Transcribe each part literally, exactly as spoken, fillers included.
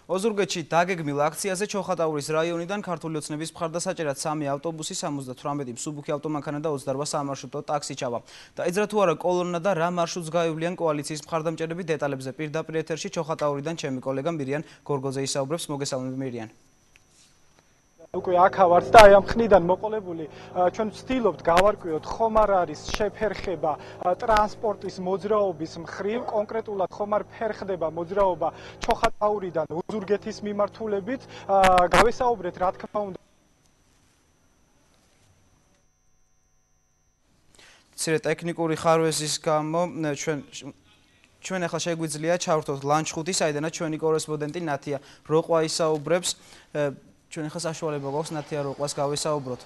ოზურგეთში დაგეგმილ აქციაზე ჩოხატაურის რაიონიდან ქართული ოცნების მხარდასაჭერად სამი ავტობუსი, სამოცდათვრამეტი მსუბუქი ავტომანქანა და ოცდაორ სამარშრუტო ტაქსი ჩავა. დაიძრა თუ არა კოლონა და რა მარშრუტს გაივლიან კოალიციის მხარდამჭერები, დეტალებზე პირდაპირ ეთერში ჩოხატაურიდან ჩემი კოლეგა მირიან გორგოზე ისაუბრებს. მოგესალმებით მირიან. უკვე აქა ვართ და აი ამ ხნიდან მოყოლებული ჩვენ ვცდილობთ გავარკვიოთ ხომ არ არის შეფერხება ტრანსპორტის მოძრაობის მხრივ, კონკრეტულად ხომ არ ფერხდება მოძრაობა ჩოხატაურიდან ოზურგეთის მიმართულებით. გავესაუბრეთ რა თქმა უნდა მცირე ტექნიკური ხარვეზის გამო ჩვენ ჩვენ ახლა შეგვიძლია ჩავრთოთ ლანჩხუთი, საიდანაც ჩვენი კორესპონდენტი ნათია როყვა ისაუბრებს. ჩვენ ახლა საშუალება გვაქვს ნათია როყვას გავესაუბროთ.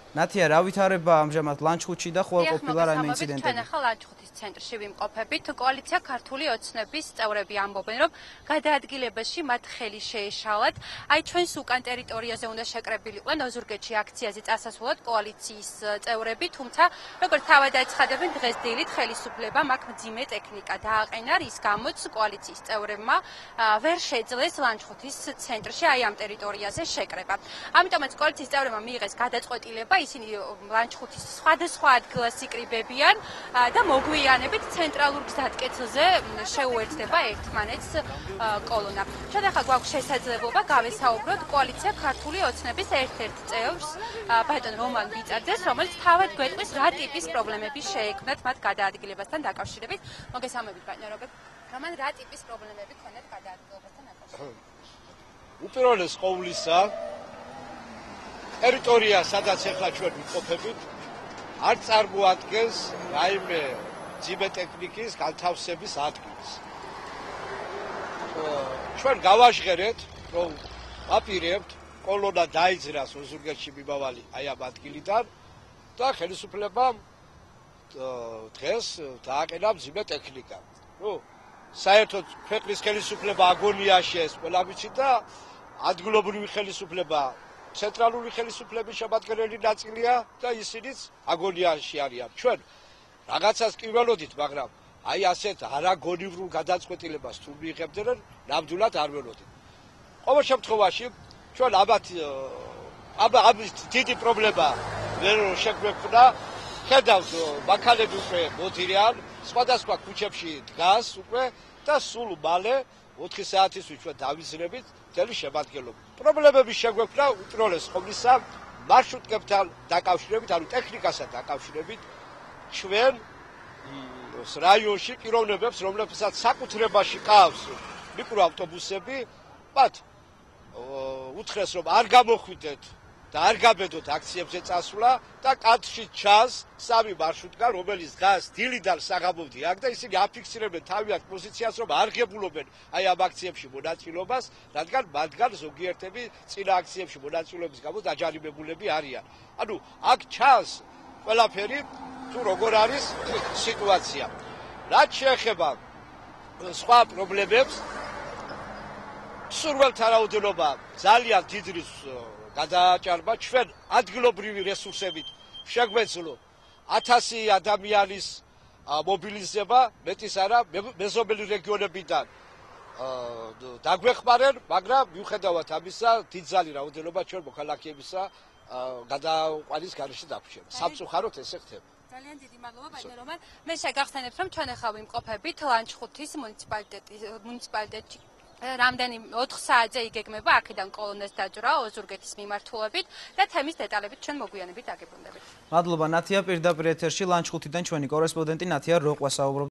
ნათია, რა ვითარება ამჟამად ლანჩხუთში და ხო არ ყოფილა რაიმე ინციდენტები? ჩვენ ახლა ლანჩხუთის ცენტრში ვიმყოფებით. კოალიცია ქართული ოცნების წევრები ამბობენ, რომ გადაადგილებაში მათ ხელი შეეშალათ. აი ჩვენს უკან ტერიტორიაზე უნდა შეკრებილიყვნენ ოზურგეთში აქციაზე წასასვლელად კოალიციის წევრები, თუმცა როგორც თავად აცხადებენ, დღეს დილით ხელისუფლებამ აქ მძიმე ტექნიკა დააყენა, რის გამოც კოალიციის წევრებმა ვერ შეძლეს ლანჩხუთის ცენტრში აი ამ ტერიტორიაზე შეკრება. ამიტომაც კოალიციის წევრებმა მიიღეს გადაწყვეტილება, ისინი ლანჩხუთის სხვადასხვა ადგილას იკრიბებიან და მოგვიანებით ცენტრალურ გზატკეცილზე შეუერთდება ერთმანეთს კოლონა. ჩვენ ახლა გვაქვს შესაძლებლობა გავესაუბროთ კოალიცია ქართული ოცნების ერთ-ერთ წევრს, ბატონ რომან ბიწაძეს, რომელიც თავად გვეტყვის რა ტიპის პრობლემები შეექმნათ მათ გადაადგილებასთან დაკავშირებით. მოგესალმებით ბატონ რომან, რა ტიპის პრობლემები ქონდათ გადაადგილებასთან დაკავშირებით? უპირველეს ყოვლისა ტერიტორია, სადაც ახლა ჩვენ ვიმყოფებით, არ წარმოადგენს რაიმე მძიმე ტექნიკის განთავსების ადგილს. ჩვენ გავაჟღერეთ, რომ ვაპირებთ კოლონა დაიძრას ოზურგეთში მიმავალი აი ამ ადგილიდან და ხელისუფლებამ დღეს დააყენა მძიმე ტექნიკა. ნუ საერთოდ ქვეყნის ხელისუფლება აგონიაში ეს ყველა ვიცით და ადგილობრივი ხელისუფლება ცენტრალური ხელისუფლების შემადგენელი ნაწილია და ისინიც აგონიაში არიან. ჩვენ რაღაცას კი ველოდით, მაგრამ აი ასეთ არაგონივრულ გადაწყვეტილებას თუ მიიღებდნენ, ნამდვილად არ ველოდით. ყოველ შემთხვევაში ჩვენ ამათ ამის დიდი პრობლემა ვერ შეგვექმნა. ხედავთ, მანქანები უკვე მოდიან, სხვადასხვა ქუჩებში დგას უკვე და სულ მალე ოთხი საათისთვის ჩვენ დავიზრებით მთელი შემადგენლობა. პრობლემები შეგვექმნა უპირველეს ყოვლისა მარშრუტებთან დაკავშირებით, ანუ ტექნიკასთან დაკავშირებით. ჩვენ რაიონში პიროვნებებს, რომლებსაც საკუთრებაში ყავს მიკროავტობუსები, მათ უთხრეს, რომ არ გამოხვიდეთ და არ გაბედოთ აქციებზე წასვლა და კანტში ჩანს სამი მარშრუტგან, რომელიც დგას დილიდან საღამომდე აქ და ისინი აფიქსირებენ თავიანთ პოზიციას, რომ არ ღებულობენ აი ამ აქციებში მონაწილეობას, რადგან მათგან ზოგიერთები წინა აქციებში მონაწილეობის გამო დაჯარიმებულები არიან. ანუ აქ ჩანს ყველაფერი, თუ როგორ არის სიტუაცია. რაც შეეხება სხვა პრობლემებს, სურველთა რაოდენობა ძალიან დიდი გადააჭარბა. ჩვენ ადგილობრივი რესურსებით შეგვეძლო ათასი ადამიანის მობილიზება, მეტის არა, მეზობელი რეგიონებიდან დაგვეხმარენ, მაგრამ მიუხედავად ამისა, დიდძალი რაოდენობა ჩვენ მოქალაქეებისა გადაყვანის გარეშე დაგვრჩება. სამწუხაროდ ესე ხდება. ძალიან დიდი მადლობა ბატონ რომან. მე შეგახსენებთ, რომ ჩვენ ახლა ვიმყოფებით ლანჩხუთის მუნიციპალიტეტში. რამდენი ოთხ საათზე იგეგმება აქედან კოლონას დაძვრა ოზურგეთის მიმართულებით და თემის დეტალებით ჩვენ მოგვიანებით დაგებრუნდებით. მადლობა ნათია, პირდაპირ ეთერში ლანჩხუთიდან ჩვენი კორესპონდენტი ნათია როყვა საუბრობდა.